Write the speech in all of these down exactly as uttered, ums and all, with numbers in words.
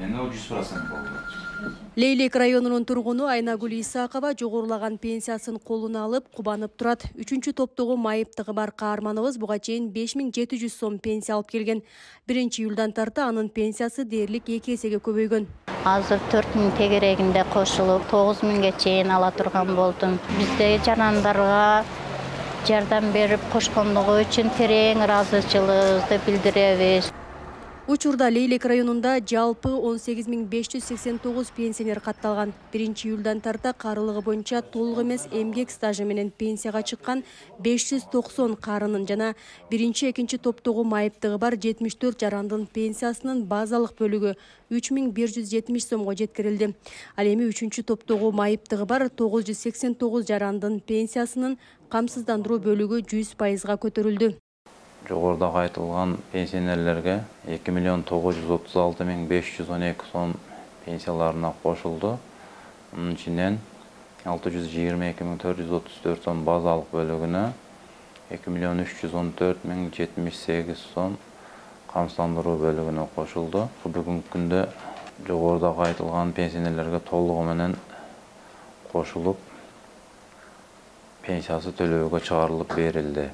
Эми ол жүз процент болду. Лейлек районунун тургуну Айнагүл Исакова жогорулаган пенсиясын колуна алып кубанып турат. Үчүнчү топтогу майыптыгы бар каарманыбыз буга чейин беш миң жети жүз сом пенсия алып келген. биринчи июлдан тарта анын пенсиясы дээрлик эки эсеге көбөйгөн. Азыр төрт миң тегерегинде кошулуп тогуз миңге чейин ала турган болдум. Бизде жарандарга жардам берип кошкондугу үчүн терең ыраазычылыгыбызды билдиребиз. Учурда Лейлек районунда жалпы он сегиз миң беш жүз сексен тогуз пенсионер катталган. биринчи июлдан тарта карылыгы боюнча толук эмес эмгек стажы менен пенсияга чыккан беш жүз токсон карынын жана биринчи экинчи топтогу майыптыгы бар жетимиш төрт жарандын пенсиясынын базалык бөлүгү үч миң бир жүз жетимиш сомго жеткирилди. Ал эми үчүнчү топтогу майыптыгы бар тогуз жүз сексен тогуз жарандын пенсиясынын камсыздандыруу бөлүгү жүз пайызга көтөрүлдү. Жогоруда айтылган пенсионерлерге эки миллион тогуз жүз отуз алты миң беш жүз он эки сом пенсияларына кошулду. Мунун ичинен алты жүз жыйырма эки миң төрт жүз отуз төрт сом базалык бөлүгүнө, эки миллион үч жүз он төрт миң жетимиш сегиз сом камсыздандыруу бөлүгүнө кошулду. Бүгүнкү күндө жогоруда айтылган пенсионерлерге толугу менен кошулуп пенсиясы төлөөгө чыгарылып берилди.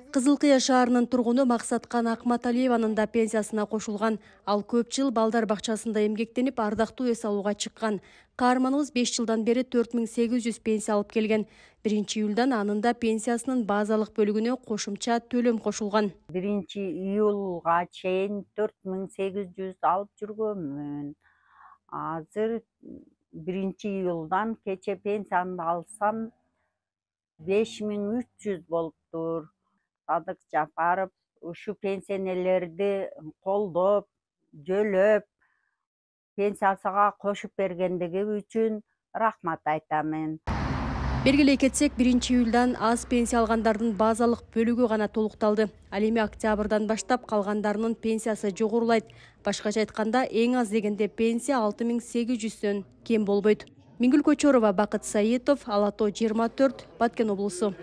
Кызыл Кыя шаарынын тургуну Максаткан Акматалиеванын да пенсиясына кошулган. Ал көп жыл балдар бакчасында эмгектенип, ардактуу эс алууга чыккан. Каарманыбыз беш жылдан бери төрт миң сегиз жүз пенсия алып келген. биринчи июлдан анын да пенсиясынын базалык бөлүгүнө кошумча төлөм кошулган. биринчи июлга чейин төрт миң сегиз жүз алып жүргөнмүн. Азыр биринчи июлдан кече пенсиямды алсам беш миң үч жүз болуптур. Садык Жапаров ушу пенсионерлерди колдоп, жөлөп, пенсиясына кошуп бергендиги үчүн рахмат айтамын. Белгилей кетсек, биринчи июлдан аз пенсия алгандардын базалык бөлүгү гана толукталды. Ал эми октябрдан баштап калгандарынын пенсиясы жогорулайт. Башкача айтканда, эң аз дегенде пенсия алты миң сегиз жүздөн кем болбойт. Миңгүл Көчөрова, Бакыт Саитов, Ала тоо жыйырма төрт, Баткен облусу.